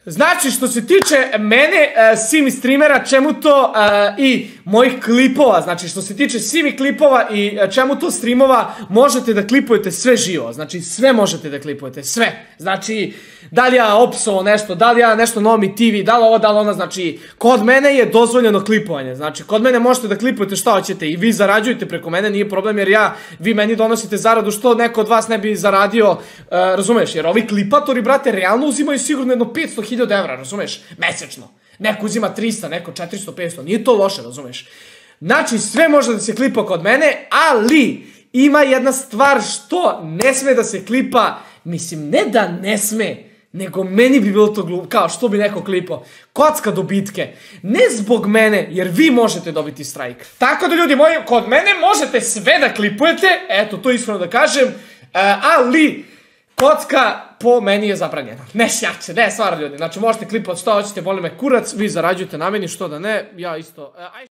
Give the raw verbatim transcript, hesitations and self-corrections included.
Znači, što se tiče mene, Simi streamera, čemu to i mojih klipova, znači što se tiče Simi klipova i čemu to streamova, možete da klipujete sve živo, znači sve možete da klipujete, sve. Znači, da li ja opsao nešto, da li ja nešto Nomi T V, da li ovo, da li ona, znači, kod mene je dozvoljeno klipovanje, znači, kod mene možete da klipujete šta hoćete i vi zarađujete preko mene, nije problem jer ja, vi meni donosite zaradu što neko od vas ne bi zaradio, razumeš, jer ovi klipatori, brate, realno uzimaju sigurno jedno petsto hiljada evra, razumeš, mesečno. Neko uzima trista, neko četiristo, petsto, nije to loše, razumeš. Znači, sve može da se klipa kod mene, ali ima jedna stvar što ne sme da se klipa, mislim, ne da ne sme, nego meni bi bilo to glupo, kao što bi neko klipao, kocka dobitke, ne zbog mene, jer vi možete dobiti strajk. Tako da ljudi moji, kod mene možete sve da klipujete, eto, to iskreno da kažem, ali kocka po meni je zabranjena. Ne šjače, ne, stvarno ljudi, znači možete klipati što hoćete, boli me kurac, vi zarađujete na meni, što da ne, ja isto...